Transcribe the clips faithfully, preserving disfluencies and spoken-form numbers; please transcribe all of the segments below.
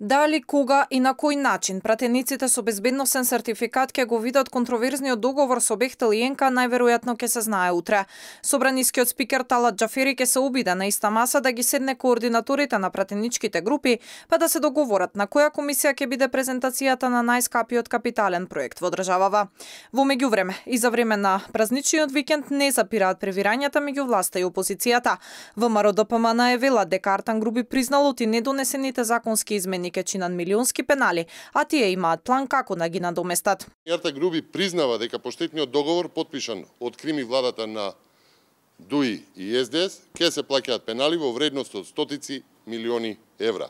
Дали, кога и на кој начин пратениците со безбедносен сертификат ќе го видат контроверзниот договор со Бехтел и Енка, најверојатно ќе се знае утре. Собранискиот спикер Талат Џафери ќе се обиде на иста маса да ги седне координаторите на пратеничките групи, па да се договорат на која комисија ќе биде презентацијата на најскапиот капитален проект во државава. Во меѓувреме, и за време на празничниот викенд не запираат превирањата меѓу власта и опозицијата. ВМРО Д П М најавила дека Артан Груби призналот и недонесените законски измени ќе чинат милионски пенали, а тие имаат план како да ги надоместат. Артан Груби признава дека поштетниот договор подпишан од Крим и владата на ДУИ и С Д С ќе се плаќаат пенали во вредност од стотици милиони евра.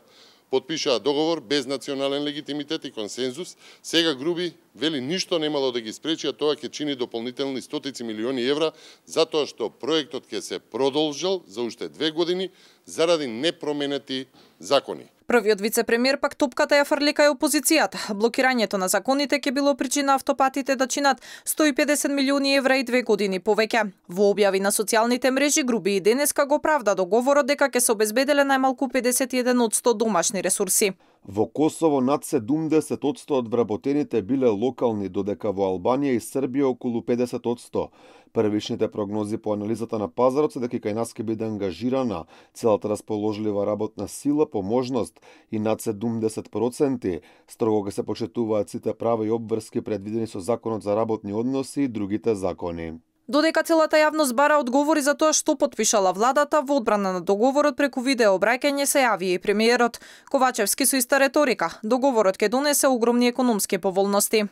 Подпишаа договор без национален легитимитет и консензус. Сега Груби вели ништо немало да ги спречи, а тоа ќе чини дополнителни стотици милиони евра, затоа што проектот ќе се продолжил за уште две години заради непроменети закони. Првиот вице-премиер пак топката ја фрли кај опозицијата. Блокирањето на законите ќе било причина автопатите да чинат сто и педесет милиони евра и две години повеќе. Во објави на социјалните мрежи Груби и денеска го правда договорот дека ќе се обезбеделе најмалку педесет и еден одсто домашни ресурси. Во Косово над седумдесет одсто од вработените биле локални, додека во Албанија и Србија околу педесет одсто. Првичните прогнози по анализата на пазарот се дека кај нас ќе биде ангажирана целата расположлива работна сила по можност и над седумдесет проценти. Строго ќе се почитуваат сите права и обврски предвидени со Законот за работни односи и другите закони. Додека целата јавност бара одговори за тоа што подпишала владата, во одбрана на договорот преку видео обраќање се јави и премиерот Ковачевски со иста реторика. Договорот ќе донесе огромни економски поволности.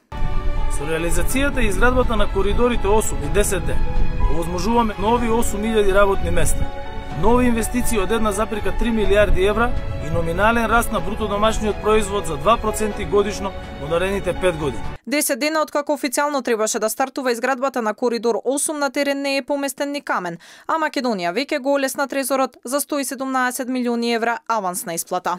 Со реализацијата и изградбата на коридорите осум и десет Д овозможуваме нови осум илјади работни места, нови инвестиции од една запирка три милијарди евра и номинален раст на бруто домашниот производ за два проценти годишно во наредните пет години. десет дена откако официјално требаше да стартува изградбата на коридор осум, на терен не е поместен ни камен, а Македонија веќе го олесна трезорот за сто и седумнаесет милиони евра авансна исплата.